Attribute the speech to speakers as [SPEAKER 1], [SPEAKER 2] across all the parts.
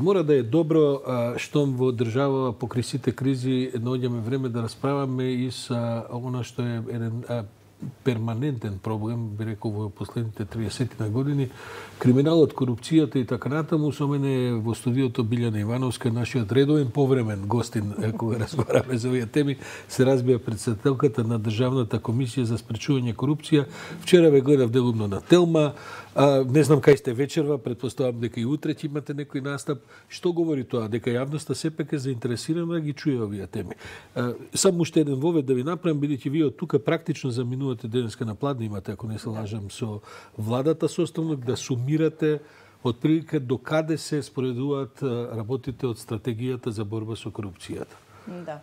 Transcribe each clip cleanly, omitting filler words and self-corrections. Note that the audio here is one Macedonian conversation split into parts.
[SPEAKER 1] Мора да е добро штом во држава покрај сите кризи наоѓаме време да расправаме и со она што е еден перманентен проблем, би рекол, во последните 30 на години, криминалот, корупцијата и така натаму. Со мене во студиото Билјана Ивановска, нашиот редовен повремен гостин, кога разговараме за овие теми, се разбија претседателката на Државната комисија за спречување корупција. Вчера ве гледав делумно на Телма. Не знам кај сте вечерва, претпоставам дека и утре ќе имате некој настап. Што говори тоа? Дека јавноста сепак е заинтересирана да ги чуе овие теми. Само уште еден вовед да ви направам, бидејќи вие од тука практично заминувате денеска на пладне имате, ако не се лажам, со владата составно, да сумирате отприлика до каде се споредуваат работите од стратегијата за борба со корупцијата.
[SPEAKER 2] Да.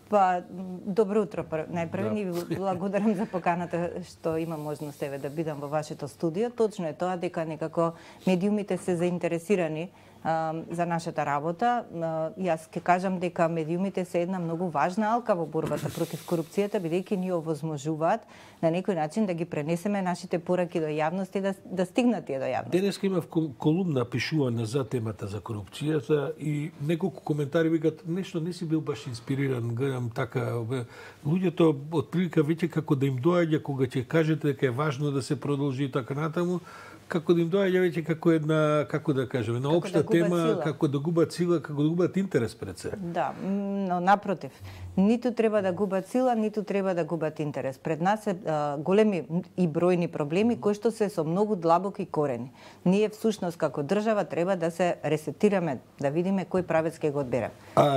[SPEAKER 2] Па, добро утро. Најпрво ни благодарам за поканата што има можност еве да бидам во вашето студио. Точно е тоа дека некако медиумите се заинтересирани за нашата работа. Јас ќе кажам дека медиумите се една многу важна алка во борбата против корупцијата, бидејќи ни овозможуваат на некој начин да ги пренесеме нашите пораки до јавност и да стигнат тие до јавност.
[SPEAKER 1] Денеска имав колумна пишувана за темата за корупцијата и неколку коментари викат нешто не си бил баш инспириран, гледам така, луѓето отприлика веќе како да им доаѓа кога ќе кажете дека е важно да се продолжи и така натаму, како да им доаѓа веќе како една, како да кажем, една општа тема, како да губат сила, како да губат интерес пред се.
[SPEAKER 2] Да, но напротив, ниту треба да губат сила, ниту треба да губат интерес. Пред нас е големи и бројни проблеми кои што се со многу длабоки корени. Ние всушност како држава треба да се ресетираме, да видиме кој правец ќе го одбере.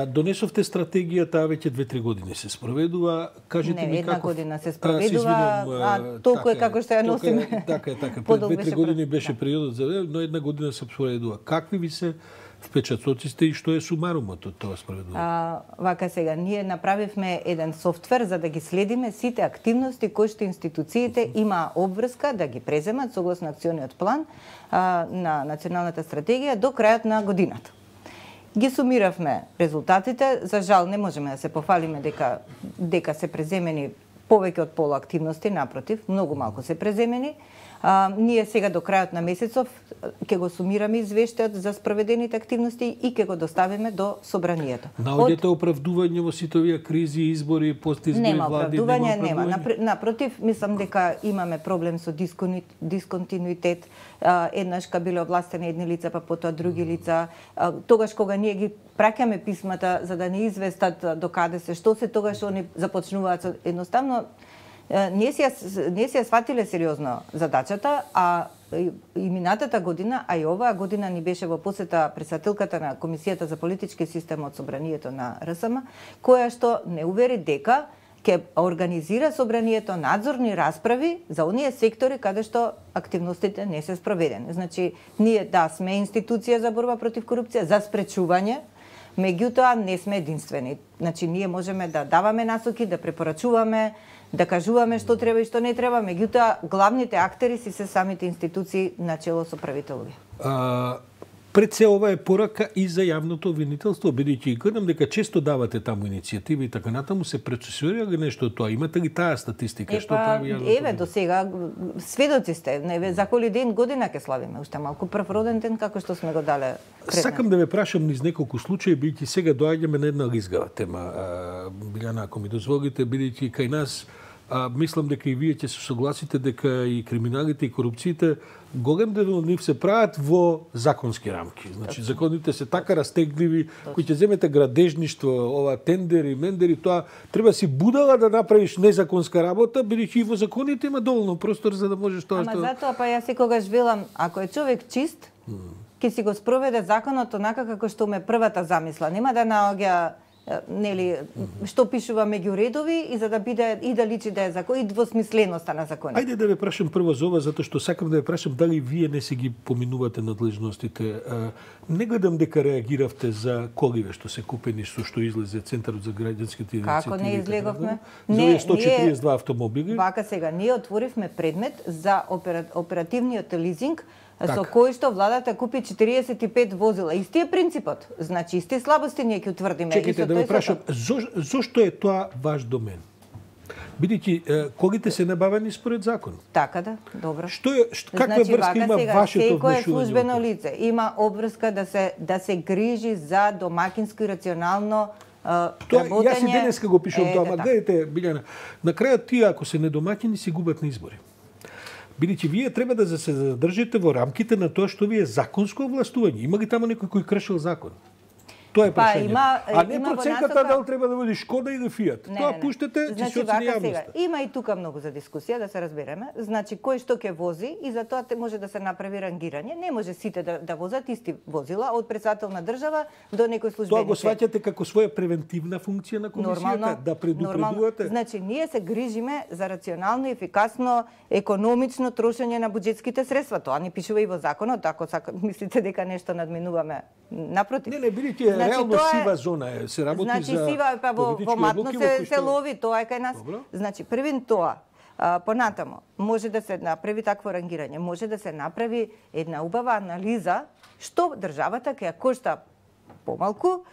[SPEAKER 1] Донесовте стратегија, таа веќе 2-3 години се спроведува. Кажете ми
[SPEAKER 2] една година се спроведува, толку е како што ја носиме.
[SPEAKER 1] Така е. Пред 2-3 години беше периодот за но една година се спроведува. Какви ви се впечатоците и што е сумарумот од тоа спроведување?
[SPEAKER 2] Вака сега, ние направивме еден софтвер за да ги следиме сите активности кои што институциите има обврска да ги преземат согласно акциониот план на националната стратегија до крајот на годината. Ги сумиравме резултатите, за жал не можеме да се пофалиме дека се преземени повеќе од пола активности, напротив, многу малку се преземени. Ние сега до крајот на месецов ќе го сумираме извештајот за спроведените активности и ќе го доставиме до собранието.
[SPEAKER 1] Наоѓате оправдување во сите овие кризи, избори, постизбори, влади?
[SPEAKER 2] Нема. Напротив, мислам дека имаме проблем со дисконтинуитет. Еднаш ка биле овластени едни лица, па потоа други лица. Тогаш кога ние ги праќаме писмата за да не известат до каде се, што се, тогаш они започнуваат со едноставно не си ја сватиле сериозно задачата, а и минатата година, а и оваа година ни беше во посета претседателката на Комисијата за политички систем од собранието на РСМ, која што не увери дека ќе организира собранието надзорни расправи за оние сектори каде што активностите не се спроведени. Значи, ние сме институција за борба против корупција, за спречување, меѓутоа не сме единствени. Значи, ние можеме да даваме насоки, да препорачуваме, да кажуваме што треба и што не треба, меѓутоа главните актери си се самите институции начело со правителови.
[SPEAKER 1] Пред се ова е порака и за јавното обвинителство, бидејќи гледам дека често давате таму иницијативи и така натаму, се процесуира ли нешто од тоа? Имате ли таа статистика? Што прави јавното?
[SPEAKER 2] Еве, до сега сведоци сте. За коли ден година ќе славиме, уште малку прв роден ден како што сме го дале предмет.
[SPEAKER 1] Сакам да ве прашам низ неколку случаи, бидејќи сега доаѓаме на една лизгава тема. Билјана, ако ми дозволите, бидејќи кај нас мислам дека и вие ќе се согласите дека и криминалите и корупциите голем дел од нив се прават во законски рамки. Значи законите се така растегливи, кои ќе земете градежништво, ова тендери, мендери, тоа треба си будала да направиш незаконска работа, бидејќи и во законите има доволно простор за да можеш тоа што...
[SPEAKER 2] Ама затоа па јас секогаш велам, ако е човек чист, ќе си го спроведе законот онака како што ме првата замисла. Нема да наоѓа што пишува меѓу редови и за да биде и да личи да е закон и двосмисленоста на законот.
[SPEAKER 1] Ајде да ве прашам прво за ова, затоа што сакам да ве прашам дали вие не се ги поминувате надлежностите. Не гледам дека реагиравте за коливе што се купени, што излезе Центарот за граѓанските иницијативи.
[SPEAKER 2] Како не излеговме?
[SPEAKER 1] Не, 142 автомобили.
[SPEAKER 2] Вака сега, ние отворивме предмет за оперативниот лизинг, со кој што владата купи 45 возила. Исти е принципот. Значи, исти слабости ние ќе утврдиме.
[SPEAKER 1] Чекайте да ме прашам, зошто е тоа ваш домен? Бидејќи колите се набавени според закон.
[SPEAKER 2] Така да, добро.
[SPEAKER 1] Каква врска има вашето внешување?
[SPEAKER 2] Секое службено лице има обврска да се грижи за домакинско и рационално работење.
[SPEAKER 1] Јас и денеска го пишувам тоа, ама гледайте, Билјана, на крајот тие ако се недомакини си губат на избори. Бидејќи вие треба да се задржите во рамките на тоа што ви е законско овластување. Има ли таму некој кој кршил закон? Тоа е прашањето. А не проценката дали треба да биде Шкода или Фијат. Тоа пуштете ќе се оцени јавноста.
[SPEAKER 2] Има и тука многу за дискусија, да се разбереме. Значи, кој што ќе вози и за тоа може да се направи рангирање. Не може сите да возат исти возила, од председател на држава до некој службеник.
[SPEAKER 1] Тоа го сваќате како своја превентивна функција на комисијата, да предупредувате?
[SPEAKER 2] Значи, ние се грижиме за рационално, ефикасно, економично трошење на буџетските средства. Тоа не пишува и во законот, ако мислите дека нешто надминуваме. Напротив.
[SPEAKER 1] Не, бидејќи реално сива зона е, се работи за
[SPEAKER 2] политички сива, па во матно се лови, тоа е кај нас. Значи, првин тоа, понатамо, може да се направи такво рангирање, може да се направи една убава анализа што државата ќе ја кошта помалку,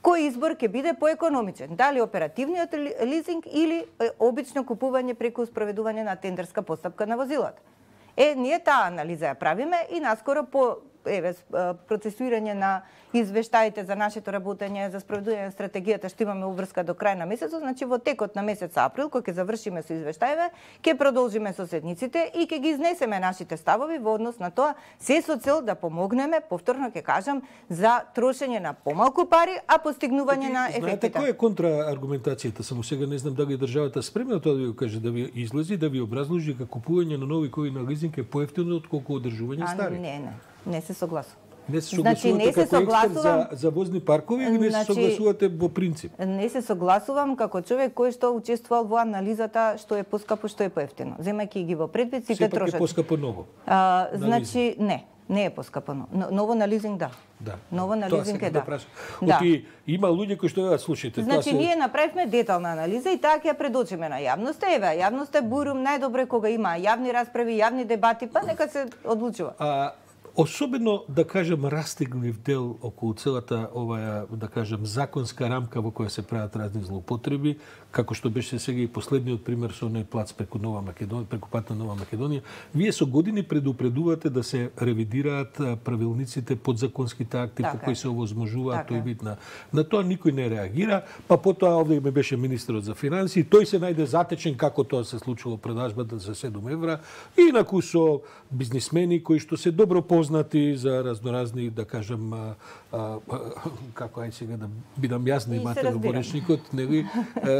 [SPEAKER 2] кој избор ќе биде поекономичен, дали оперативниот лизинг или обично купување преку спроведување на тендерска постапка на возилата. Ние таа анализа ја правиме и наскоро по процесуирање на извештаите за нашето работење, за спроведување на стратегијата што имаме уврска до крај на месецот, значи во текот на месец април, кога ќе завршиме со извештаите, ќе продолжиме со седниците и ќе ги изнесеме нашите ставови во однос на тоа, се со цел да помогнеме, повторно ќе кажам, за трошење на помалку пари, а постигнување на ефектите.
[SPEAKER 1] Знаете која е контрааргументацијата? Само сега не знам дали државата спремна тоа да ви го каже, да ви излези, да ви образложи дека купување на нови кои на лизинг е поевтино отколку одржување стари.
[SPEAKER 2] Не се согласувам.
[SPEAKER 1] Не се согласувате како експерт за возни паркови или не се согласувате во принцип?
[SPEAKER 2] Не се согласувам како човек кој што учествувал во анализата што е поскапо, што е поевтино. Земајќи ги во предвид сите трошоци.
[SPEAKER 1] Сепак е поскапо ново.
[SPEAKER 2] Значи не е поскапо. Ново на лизинг да. Ново на лизинг е да.
[SPEAKER 1] Има луѓе кои што слушајте.
[SPEAKER 2] Значи ние направивме детална анализа и таа ќе ја предочиме на јавноста. Јавноста е бурум најдобре кога има јавни расправи, јавни дебати, па нека се одлучува.
[SPEAKER 1] Особено, да кажем, растеглив дел околу целата оваа, да кажем, законска рамка во која се прават разни злоупотреби, како што беше сега и последниот пример со оној плац преку Нова Македонија, преку пат на Нова Македонија. Вие со години предупредувате да се ревидираат правилниците, подзаконските акти по кои се овозможуваат тој вид на тоа никој не реагира, па потоа овде ме беше министерот за финансии, тој се најде затечен како тоа се случило продажбата за 7 евра, инаку со бизнисмени кои што се добро познати за разноразни, да кажем, како ај сега да бидам јас, имате во речникот, нели,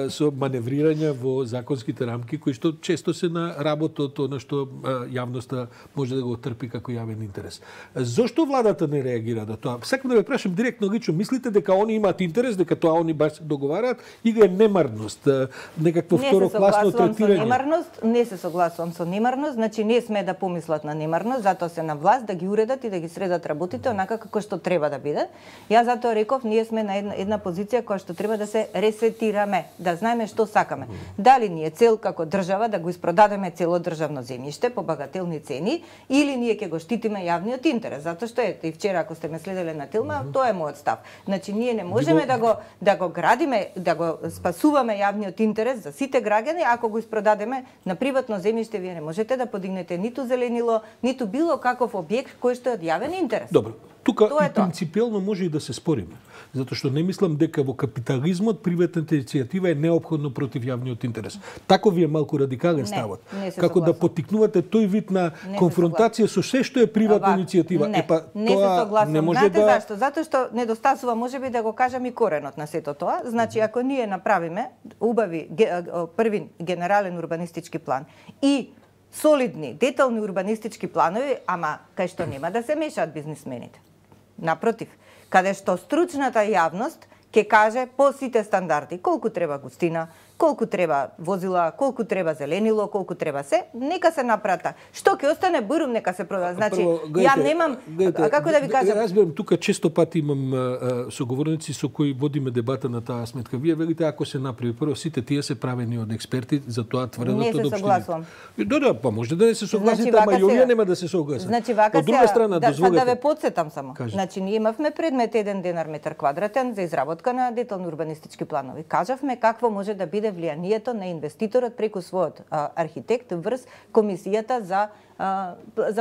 [SPEAKER 1] со маневрирања во законските рамки кои што често се на работот, она што јавноста може да го трпи како јавен интерес. Зошто владата не реагира на тоа? Сакам да ве прашам директно лично, мислите дека они имаат интерес, дека тоа они баш се договараат или е немарност, некакво второкласно третирање?
[SPEAKER 2] Не се согласувам со немарност, значи не сме да помислат на немарност, затоа се на власт да ги уредат и да ги средат работите онака како што треба да биде. Јас затоа реков, ние сме на една позиција која што треба да се ресетираме, да знаеме што сакаме. Дали ни е цел како држава да го испродадеме цело државно земјиште по багателни цени или ние ќе го штитиме јавниот интерес, затоа што и вчера ако сте ме следеле на Телма, тоа е мојот став. Значи ние не можеме да го градиме, да го спасуваме јавниот интерес за сите граѓани ако го испродадеме на приватно земјиште. Вие не можете да подигнете ниту зеленило, ниту било каков објект кој што е од јавен интерес.
[SPEAKER 1] Добро. Тука и принципиелно може и да се спориме, затоа што не мислам дека во капитализмот приватната иницијатива е неопходно против јавниот интерес. Тако ви е малку радикален ставот. Како да поттикнувате тој вид на конфронтација со се што е приватна иницијатива.
[SPEAKER 2] Не се согласувам. Не може знаете зашто? Затоа што недостасува, можеби да го кажам и коренот на сето тоа. Значи ако ние направиме убави први генерален урбанистички план и солидни, детални урбанистички планови, ама кај што нема да се мешаат бизнисмените. Напротив, каде што стручната јавност ќе каже по сите стандарди колку треба густина, колку треба возила, колку треба зеленило, колку треба се, нека се напрата. Што ќе остане бурум, нека се продаде. Значи, ја немам, како да ви кажам...
[SPEAKER 1] Разбирам, тука често пати имам соговорници со кои водиме дебата на таа сметка. Вие велите, ако се направи прво, сите тие се правени од експерти, за тоа тврдат од општините.
[SPEAKER 2] Не се согласувам.
[SPEAKER 1] Да, па може да не се согласите, ама и овие нема да се согласат.
[SPEAKER 2] Значи, вака да ве подсетам само. Значи, ние имавме предмет 1 денар метар квадратен за изработка на детални урбанистички планови. Кажавме какво може да биде биде влијанието на инвеститорот преку својот архитект врз комисијата за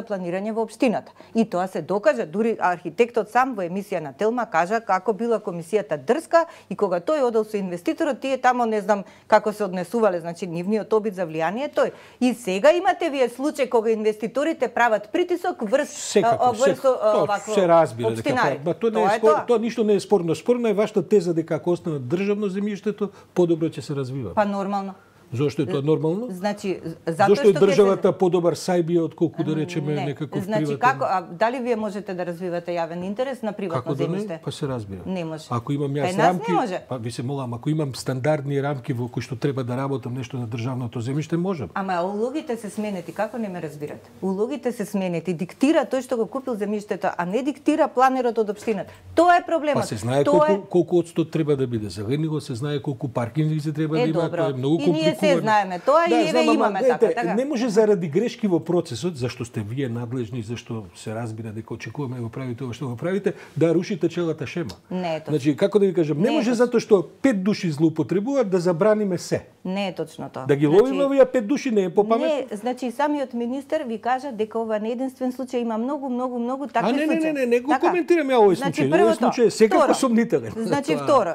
[SPEAKER 2] планирање во општината. И тоа се докажа, дури архитектот сам во емисија на Телма кажа како била комисијата дрска и кога тој одел со инвеститорот, тие тамо не знам како се однесувале, значи нивниот обид за влијание тој. И сега имате вие случај кога инвеститорите прават притисок врз
[SPEAKER 1] овакво се разбира дека тоа ништо не е спорно. Спорно е вашата теза дека ако остане државно земјиштето, подобро ќе се развива.
[SPEAKER 2] Па нормално.
[SPEAKER 1] Зошто е тоа нормално?
[SPEAKER 2] Значи,
[SPEAKER 1] зошто е државата подобар сајбија отколку да речеме некаков приватен?
[SPEAKER 2] Значи како дали вие можете да развивате јавен интерес на приватно земјиште?
[SPEAKER 1] Како да не? Па се разбира.
[SPEAKER 2] Не може.
[SPEAKER 1] Ако имам јас рамки, па ви се молам, ако имам стандардни рамки во кои што треба да работам нешто на државното земјиште, можам.
[SPEAKER 2] Ама улогите се сменети, како не ме разбирате? Улогите се сменети, диктира тој што го купил земјиштето, а не диктира планерот од општината. Тоа е проблемот.
[SPEAKER 1] Па се знае колку одстот треба да биде. Загрени се знае колку паркинзи се треба да има, тоа е многу компликувано.
[SPEAKER 2] Се знаеме тоа и еве имаме така.
[SPEAKER 1] Не може заради грешки во процесот, зашто сте вие надлежни, зашто се разбира дека очекуваме да го правите ова што го правите, да рушите целата шема.
[SPEAKER 2] Не е точно.
[SPEAKER 1] Значи, како да ви кажам, не може затоа што 5 души злоупотребуваат да забраниме се.
[SPEAKER 2] Не е точно тоа.
[SPEAKER 1] Да ги ловиме овие 5 души не е попаметно.
[SPEAKER 2] Не, значи самиот министер ви кажа дека ова не е единствен случај, има многу такви случаи.
[SPEAKER 1] Не го коментирам ја овој случај. Овој случај е секако сомнителен.
[SPEAKER 2] Значи второ,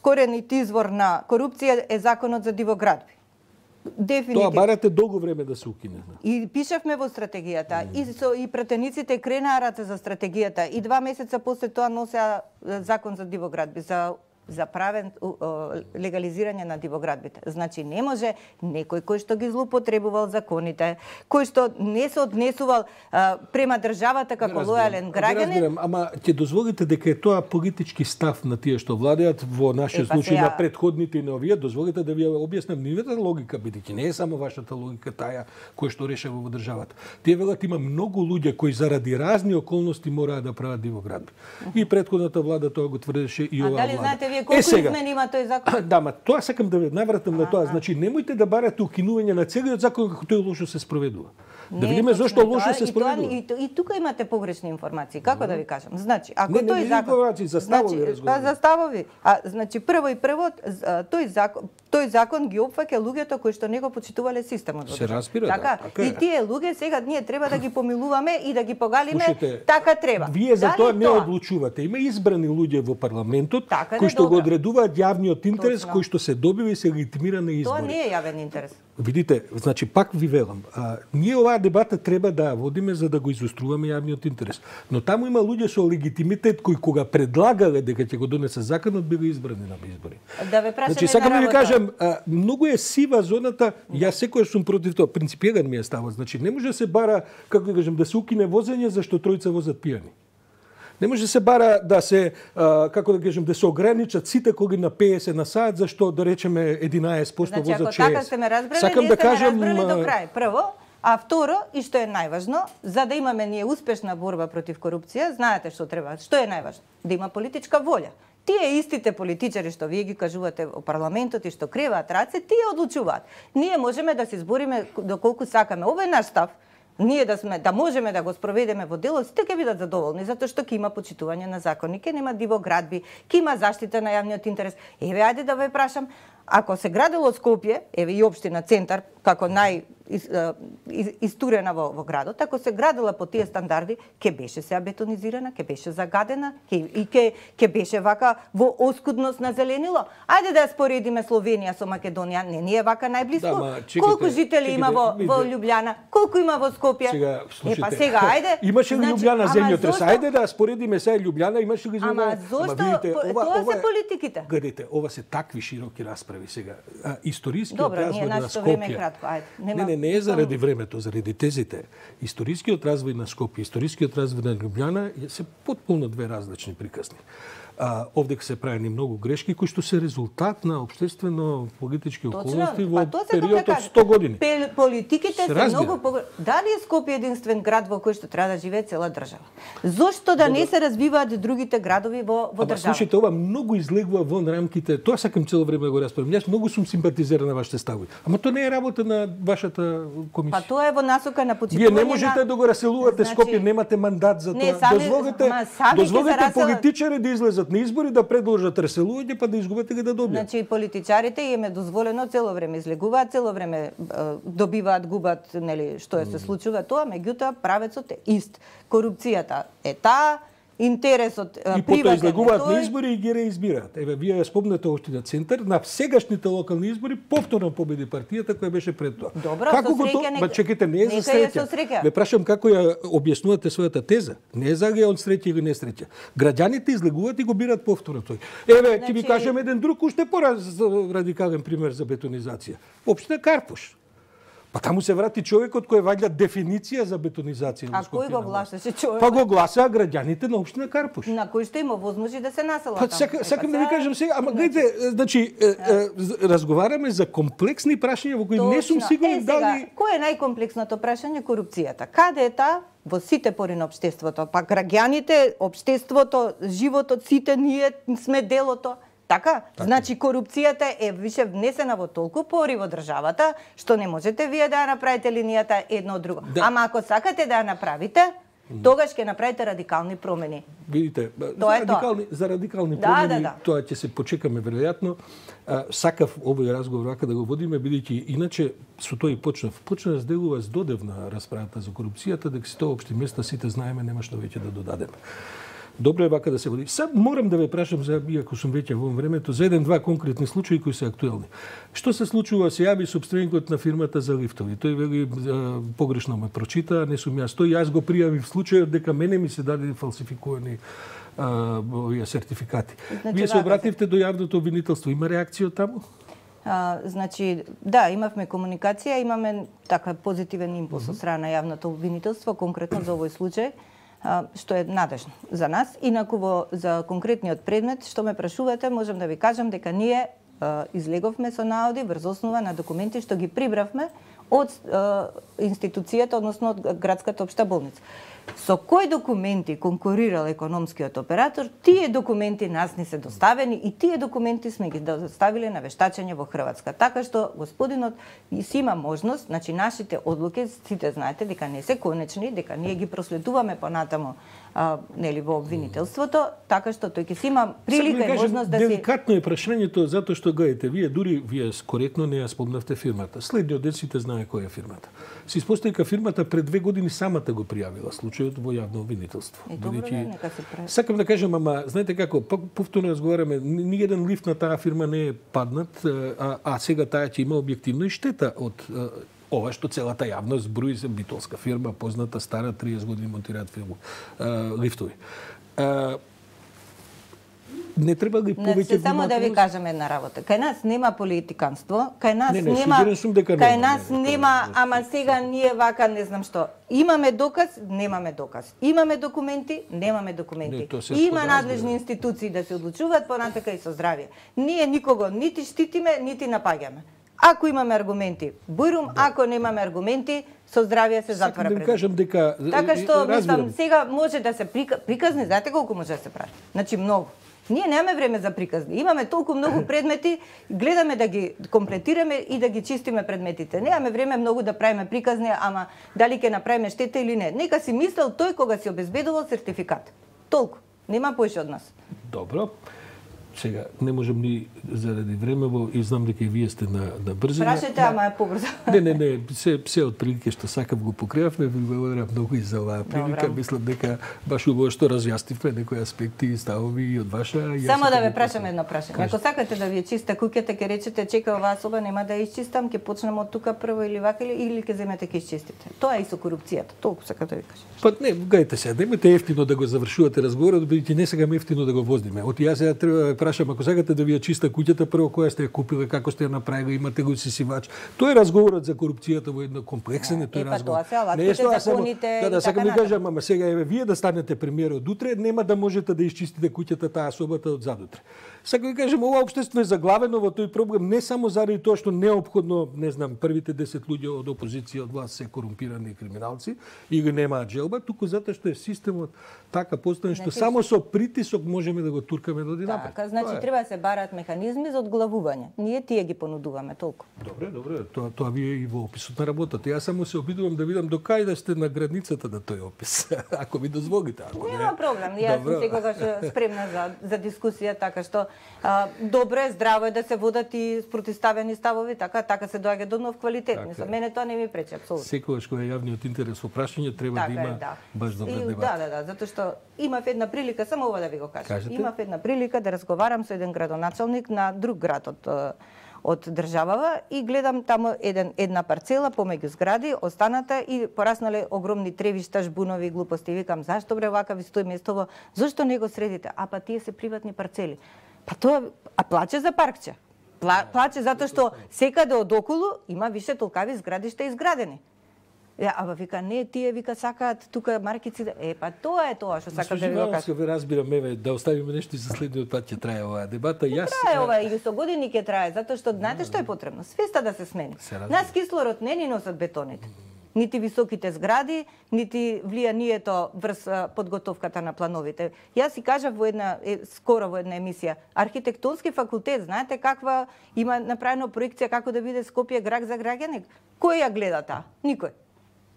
[SPEAKER 2] коренит извор на корупција е законот за дивоградби. Дефинитивно.
[SPEAKER 1] Тоа барате долго време да се укине.
[SPEAKER 2] И пишавме во стратегијата, и пратениците кренаа раце за стратегијата, и 2 месеца после тоа носеа закон за дивоградби, за правен легализирање на дивоградбите. Значи не може некој кој што ги злоупотребувал законите, кој што не се однесувал према државата како лојален граѓанин.
[SPEAKER 1] Разбирам, ама ќе дозволите дека е тоа политички став на тие што владеат во нашиот случај на претходните и на овие, дозволите да ви објаснам нивната логика, бидејќи не е само вашата логика таа која што решава во државата. Тие велат има многу луѓе кои заради разни околности мораат да прават дивоградби. И претходната влада тоа го тврдеше и оваа влада.
[SPEAKER 2] Колку измени има тој закон?
[SPEAKER 1] Да, ма тоа сакам да ве навратам на тоа. Значи немојте да барате укинување на целиот закон како тој лошо се спроведува. Да видиме зошто лошо се спроведува.
[SPEAKER 2] И тука имате погрешни информации. Како да ви кажам? Значи, ако тој закон
[SPEAKER 1] информации за ставови разговори.
[SPEAKER 2] За ставови. Значи прво тој закон ги опфаќа луѓето кои што не го почитувале системот.
[SPEAKER 1] Се разбира,
[SPEAKER 2] така. И тие луѓе сега ние треба да ги помилуваме и да ги погалиме, така треба.
[SPEAKER 1] Вие за тоа не одлучувате. Има избрани луѓе во парламентот кои што го одредуваат јавниот интерес, кој што се добива и се легитимира на избори.
[SPEAKER 2] Тоа не е јавен интерес.
[SPEAKER 1] Видите, значи пак ви велам, ние оваа дебата треба да водиме за да го изоструваме јавниот интерес. Но таму има луѓе со легитимитет кои кога предлагале дека ќе го донесе законот биле избрани на избори.
[SPEAKER 2] Да ве прашам,
[SPEAKER 1] значи сакам да ви кажам, многу е сива зоната, јас секогаш сум против тоа, принципиелен ми е ставот. Значи не може да се бара, како да кажам, да се укине возење зашто тројца возат пијани. Не може да се бара да се, како да кажем, да се ограничат сите коги на 50 на сат, зашто да речеме 11% возат 60.
[SPEAKER 2] Значи, ако така сте ме разбрали,
[SPEAKER 1] сакам да кажам,
[SPEAKER 2] ме разбрали до крај. Прво, а второ, и што е најважно, за да имаме ние успешна борба против корупција, знаете што треба, што е најважно? Да има политичка волја. Тие истите политичари што вие ги кажувате во парламентот и што креваат раце, тие одлучуваат. Ние можеме да се избориме доколку сакаме. Ова е наш став. Ние да можеме да го спроведеме во дело, сите ќе бидат задоволни, затоа што ќе има почитување на закони, ќе нема дивоградби, ќе има заштита на јавниот интерес. Еве, ајде да ве прашам, ако се градело Скопје, еве и општина Центар, како истурена во градот, ако се градела по тие стандарди, ќе беше сега бетонизирана, ќе беше загадена, ќе беше вака во оскудност на зеленило. Ајде да ја споредиме Словенија со Македонија, не ни е вака најблиску. Колку жители има во Љубљана, колку има во Скопје? Сега, ајде.
[SPEAKER 1] Имаше ли Љубљана земјотрес? Ајде да споредиме сега Љубљана, имаше ли земјотрес?
[SPEAKER 2] Ама зошто? Тоа се политиките.
[SPEAKER 1] Гледайте, ова се такви широки расправи сега. Историскиот развој на Скопје. Не е заради времето, заради тезите. Историскиот развој на Скопје, историскиот развој на Љубљана се потполно две различни приказни. Овде се правени многу грешки кои што се резултат на општествено-политички околности во период од 100 години.
[SPEAKER 2] Политиките се многу Дали е Скопје единствен град во кој што треба да живее цела држава? Зошто да не се развиваат другите градови во држава?
[SPEAKER 1] Слушайте, ова многу излегува вон рамките. Тоа сакам цело време да го спомнам. Јас многу сум симпатизер на вашите ставови. Ама тоа не е работа на вашата комисија.
[SPEAKER 2] Па тоа е во насока на почитување.
[SPEAKER 1] Вие не можете да го раселувате Скопје, немате мандат за тоа. Дозволете политичари да излезат на избори, да предложат раселување, па да изгубите ги да добијат.
[SPEAKER 2] Значи политичарите им е дозволено цело време излегуваат, цело време добиваат, губат, нели, што се случува тоа, меѓутоа правецот е ист. Корупцијата е таа, интересот
[SPEAKER 1] и потоа излегуваат на избори и ги реизбираат. Еве, вие ја спомнете Општина Центар, на сегашните локални избори повторно победи партијата која беше пред тоа.
[SPEAKER 2] Добро,
[SPEAKER 1] како го тоа? Ма чекайте, не е за среќа. Ве прашам како ја објаснувате својата теза. Не е за од среќа или несреќа. Граѓаните излегуваат и го бират повторно тој. Еве, ќе ви кажем еден друг уште порадикален пример за бетонизација. Општина Карпуш. Па таму се врати човекот кој ваѓа дефиниција за бетонизација.
[SPEAKER 2] А кој го гласаше човекот?
[SPEAKER 1] Па го гласаа граѓаните на Општина Карпуш.
[SPEAKER 2] На кој што има возможност да се населат
[SPEAKER 1] таму. Сакам да ви кажам сега, ама гледате, значи разговараме за комплексни прашања во кои не сум сигурен дали
[SPEAKER 2] кој е најкомплексното прашање? Корупцијата. Каде е таа? Во сите пори на општеството. Па граѓаните, општеството, животот, сите ние сме делото. Така? Значи корупцијата е више внесена во толку пори во државата, што не можете вие да ја направите линијата едно од друго. Да. Ама ако сакате да ја направите, тогаш ќе направите радикални промени.
[SPEAKER 1] Видите, за радикални промени, тоа ќе се почекаме веројатно. Сакав овој разговор вака да го водиме, бидејќи иначе со тој почнав да сделува здодевна расправата за корупцијата, дека се тоа општи места сите знаеме, нема што веќе да додадеме. Добро е вака да се води. Сад морам да ве прашам, за иако сум веќе во времето, за еден-два конкретни случаи кои се актуелни. Што се случува? Се јави собственикот на фирмата за лифтови. Тој вели погрешно ме прочита, не сум јас тој. Јас го пријавив случајот дека мене ми се даде фалсификувани овие сертификати. Значи, вие се обративте до јавното обвинителство. Има реакција од таму?
[SPEAKER 2] Значи, да, имавме комуникација, имаме така позитивен импулс од страна на јавното обвинителство, конкретно за овој случај, што е надежно за нас. Инаку за конкретниот предмет, што ме прашувате, можам да ви кажам дека ние излеговме со наоди врз основа на документи што ги прибравме од институцијата, односно од градската општа болница. Со кои документи конкурирал економскиот оператор, тие документи нас не се доставени и тие документи сме ги доставиле на вештачење во Хрватска. Така што господинот си има можност, значи нашите одлуки, сите знаете дека не се конечни, дека ние ги проследуваме понатамо нели во обвинителството, така што тој ќе си има прилика и можност да си...
[SPEAKER 1] Деликатно е прашањето, затоа што гајте, вие коректно не ја спомнавте фирмата. Следниот ден сите знае која е фирмата. Се испостави дека фирмата пред 2 години самата го пријавила случајот во јавно обвинителство. Сакам да кажам, ама знаете како, повторно разговараме, ниеден лифт на таа фирма не е паднат, а сега таа ќе има објективно и штета од ова што целата јавност брои за битолска фирма, позната, стара, 30 години монтираат лифтови. Не треба да ги повеќе внимателност.
[SPEAKER 2] Само да ви кажам една работа. Кај нас нема политиканство, кај нас нема, ама сега ние вака не знам што. Имаме доказ, немаме доказ. Имаме документи, немаме документи. Има надлежни институции да се одлучуваат понатака и со здравје. Ние никого нити штитиме, нити напаѓаме. Ако имаме аргументи, бујрум, ако немаме аргументи, со здравје се затвара пред.
[SPEAKER 1] Кажам дека
[SPEAKER 2] така што мислам сега може да се приказни, знаете колку може да се прави? Значи многу. Ние немаме време за приказни. Имаме толку многу предмети, гледаме да ги комплетираме и да ги чистиме предметите. Немаме време многу да правиме приказни, ама дали ќе направиме штета или не. Нека си мислел тој кога си обезбедувал сертификат. Толку. Нема поише од нас.
[SPEAKER 1] Добро. Сега, не можем ни заради времево и знам дека и вие сте на брзина.
[SPEAKER 2] Прашајте, ама е побрзо.
[SPEAKER 1] Не, се од прилike што сакав го покривавме, ви благодарам многу и за оваа прилика. Мислам дека баш убаво што разјаснивме некои аспекти и ставови и од ваша.
[SPEAKER 2] Само да ве прашам едно прашање. Ако сакате да ви е чиста куќата, ќе речете чека оваа соба нема да ја исчистам, ќе почнем од тука прво или вака или ќе земете ќе исчистите. Тоа е и со корупцијата. Толку сакам да ви кажам.
[SPEAKER 1] Па не, гајте се, немате ефтино да го завршувате разговорот, бидејќи не сега ефтино да го воздиме. Оти јас сега треба прашам, ако сакате да ви ја чиста куќата, прво која сте ја купиле, како сте ја направиле, имате го сисивач. Тоа е разговорот за корупцијата во едно комплексен, тој разговор.
[SPEAKER 2] Не е тоа законите.
[SPEAKER 1] Да, сакам да кажам, ама сега еве вие да станете премиер од утре, нема да можете да исчистите куќата таа собата од задутре. Сакам да кажам, ова општество е заглавено во тој проблем не само заради тоа што неопходно, не знам, првите 10 луѓе од опозиција од власт се корумпирани криминалци или немаат желба, туку затоа што е системот така поставен што само со притисок можеме да го туркаме до динапред.
[SPEAKER 2] Така, Значи треба да се бараат механизми за одглавување. Ние тие ги понудуваме толку.
[SPEAKER 1] Добре, тоа вие и во описот на работата. Јас само се обидувам да видам до кај да сте на границата на тој опис, ако ми дозволите.
[SPEAKER 2] Нема проблем. Јас сум секогаш спремна за дискусија, така што добро е, здраво е да се водат и спротивставени ставови, така се доаѓа до нов квалитет. За мене тоа не ми пречи апсолутно.
[SPEAKER 1] Секогаш кога е јавниот интерес во прашање треба да има баш добра дебата.
[SPEAKER 2] Да, затоа што имав една прилика, само ова да ви го кажам. Имав една прилика да разговарам со еден градоначалник на друг град од државава и гледам таму една парцела помеѓу згради, останата и пораснале огромни тревишта, жбунови, глупости. Викам, зашто бре вака ви стои местово, зашто не го средите? Па тие се приватни парцели. Па тоа, плаче за паркче. Плаче затоа што секаде одоколу има више толкави зградишта изградени. Ама вика, не, тие вика сакаат тука маркици. Па тоа е тоа што сакам да ви го кажам.
[SPEAKER 1] Ве разбирам, еве, да оставиме нешто и за следниот пат ќе трае оваа дебата.
[SPEAKER 2] Трае ова и со години ќе трае, затоа што знаете што е потребно? Свеста да се смени. Нас кислород не ни носат бетоните. Нити високите згради, нити влијанието врз подготовката на плановите. Јас си кажав скоро во една емисија, архитектонски факултет, знаете каква има направено проекција како да биде Скопје град за граѓани? Кој ја гледа таа? Никој.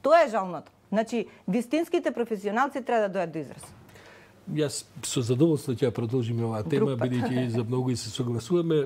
[SPEAKER 2] Тоа е жалното. Значи, вистинските професионалци треба да дојдат до израз.
[SPEAKER 1] Јас со задоволство ќе продолжиме оваа тема, бидејќи за многу и се согласуваме.